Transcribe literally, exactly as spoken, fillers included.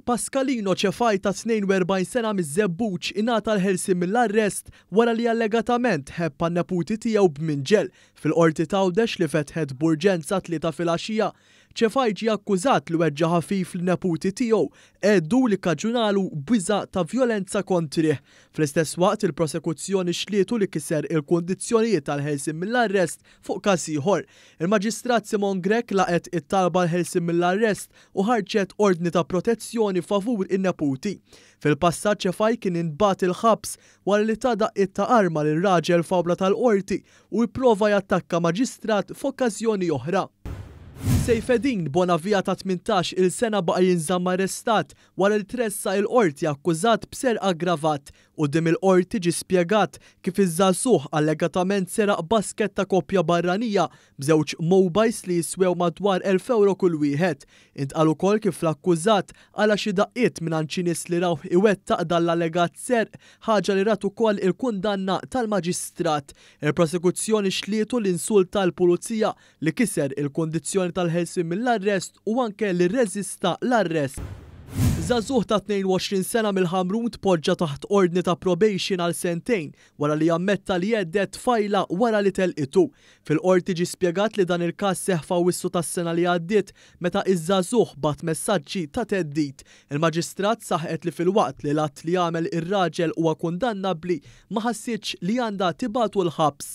Pascalino Cefai ta' tnejn u erbgħin sena miż-Żebbuġ ingħata l-ħelsien mill-arrest wara li allegatament ħebb għan-neputi tiegħu b'minġel fil-Qorti t'Għawdex li fetħet b'urġenza t-Tlieta filgħaxija. Cefai ġie akkużat li weġġa' ħafif lin-neputi tiegħu, għeddu li kkaġunalu biża' ta' vjolenza kontrih. Fl-istess waqt, il-prosekuzzjoni xlietu li kiser il-kundizzjonijiet tal-ħelsien mill-arrest fuq każ ieħor. Il-Maġistrat Simone Grech laqgħet it-talba l-ħelsien mill-arrest u ħarġet ordni ta' protezzjoni favur in-neputi. Fil-passat, Cefai kien intbagħat il-ħabs wara li ta daqqiet ta' arma lil raġel f'awla tal-qorti u jipprova jattakka maġistrat f'okkażjoni oħra. Sejfedin Bonavia ta' tmintax-il sena baqa' jinżamm arrestat wara li tressaq il-qorti akkużat b'serq aggravat. Quddiem il-qorti ġie spjegat kif iż-żagħżugħ allegatament seraq basket ta' koppja barranija b'żewġ mobiles li jiswew madwar elf euro kull wieħed. Intqal ukoll kif l-akkużat qala' xi daqqiet minn xi nies li rawh iwettaq dan l-allegat serq, ħaġa li rat ukoll il-kundanna tal-maġistrat. Il-prosekuzzjoni xlietu li insulta l-pulizija, li kiser il-kondizzjoni tal-ħelsien mill-arrest u anke li rreżista l-arrest. Żagħżugħ ta' tnejn u għoxrin sena mill-Ħamrun tpoġġa taħt ordni ta' probation għal sentejn wara li ammetta li hedded tfajla wara li telqitu. Fil-qorti ġie spjegat li dan il-każ seħħ f'Awwissu tas-sena li għaddiet, meta iż-żagħżugħ bagħat messaġġi ta' theddid. Il-maġistrat saħqet li filwaqt li l-att li għamel ir-raġel huwa kundannabbli, ma ħassitx li għandha tibagħtu l-ħabs.